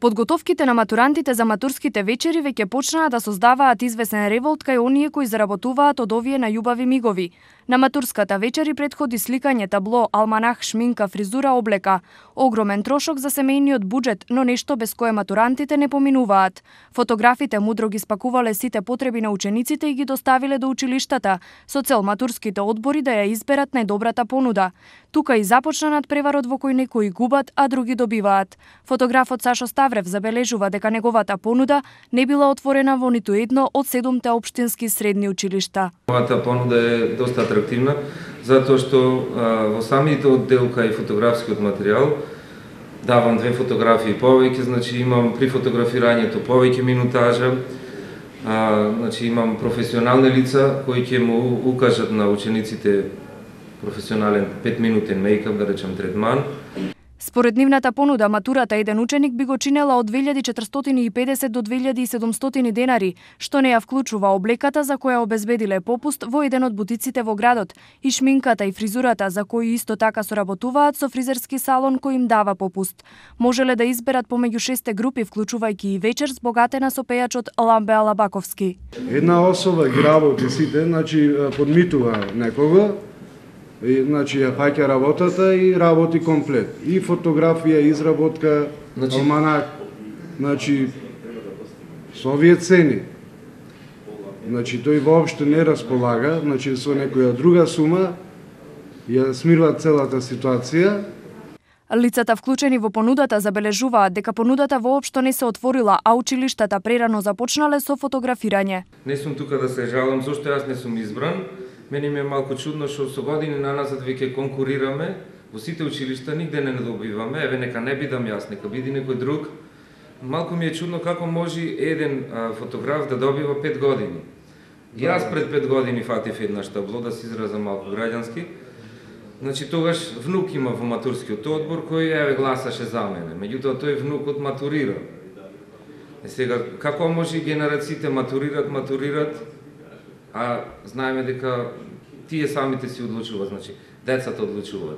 Подготовките на матурантите за матурските вечери веќе почнаа да создаваат извесен револт кај оние кои заработуваат од овие најубави мигови. На матурската вечери претходи сликање, табло, алманах, шминка, фризура, облека. Огромен трошок за семејниот буџет, но нешто без кое матурантите не поминуваат. Фотографите мудро ги спакувале сите потреби на учениците и ги доставиле до училиштата, со цел матурските одбори да ја изберат најдобрата понуда. Тука и започна надпреварот во кој некои губат, а други добиваат. Фотографот Сашо Ставрев забележува дека неговата понуда не била отворена во ниту едно од 7 општински средни училишта. Мојата понуда е доста атрактивна, затоа што во самите одделка и фотографскиот материјал давам 2 фотографии повеќе, значи имам при фотографирањето повеќе минутажа, значи имам професионални лица кои ќе му укажат на учениците професионален 5-минутен мејкап, да речем третман. Според нивната понуда, матурата еден ученик би го чинела од 2450 до 2700 денари, што не ја вклучува облеката за која обезбедиле попуст во еден од бутиците во градот, и шминката и фризурата за кои исто така соработуваат со фризерски салон кој им дава попуст. Можеле да изберат помеѓу 6 групи, вклучувајќи и вечер збогатена со пејачот Ламбе Алабаковски. Една особа ги работи сите, значи подмитува некого, значи ја фаќа работата и работи комплет. И фотографија, изработка, алманак, значи со овие цени. Значи тој воопшто не располага, значи со некоја друга сума ја смирува целата ситуација. Лицата вклучени во понудата забележуваат дека понудата воопшто не се отворила, а училиштата прерано започнале со фотографирање. Не сум тука да се жалам зошто јас не сум избран. Мене ми е малку чудно што со години наназад веќе конкурираме, во сите училишта нигде не добиваме, еве нека не бидам јас, нека биде некој друг. Малку ми е чудно како може еден фотограф да добива 5 години. Јас пред 5 години фатив еднаш табло, да се изразам малку граѓански. Значи тогаш внук има во матурскиот одбор кој еве гласаше за мене, меѓутоа тој внукот матурира. Сега како може генерациите матурират, а знаеме дека тие самите си одлучуваат, значи децата одлучуваат.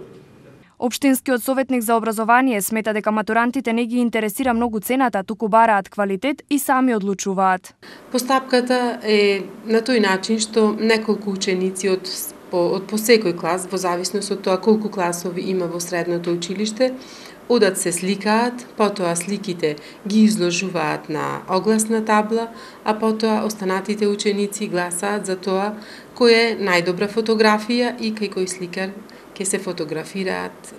Општинскиот советник за образование смета дека матурантите не ги интересира многу цената, туку бараат квалитет и сами одлучуваат. Постапката е на тој начин што неколку ученици од по секој клас, во зависност од тоа колку класови има во средното училиште, одат се сликаат, потоа сликите ги изложуваат на огласна табла, а потоа останатите ученици гласаат за тоа која е најдобра фотографија и кај кој сликар ќе се фотографираат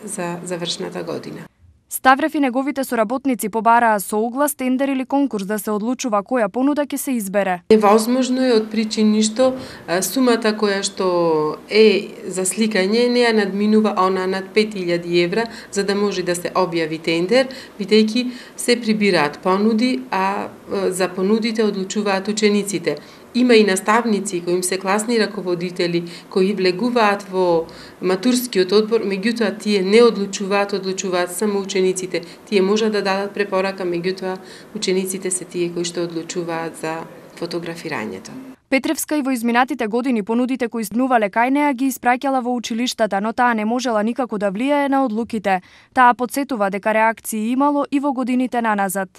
за завршната година. Ставрев и неговите соработници побараа со оглас, тендер или конкурс да се одлучува која понуда ќе се избере. Невозможно е од причини што сумата која што е за сликање не ја надминува она над 5000 евра за да може да се објави тендер, бидејќи се прибираат понуди, а за понудите одлучуваат учениците. Има и наставници кои им се класни раководители кои влегуваат во матурскиот одбор, меѓутоа тие не одлучуваат само учениците. Тие можат да дадат препорака, меѓутоа учениците се тие кои што одлучуваат за фотографирањето. Петревска и во изминатите години понудите кои снувале кај неа ги испраќала во училиштата, но таа не можела никако да влијае на одлуките. Таа потсетува дека реакции имало и во годините наназад.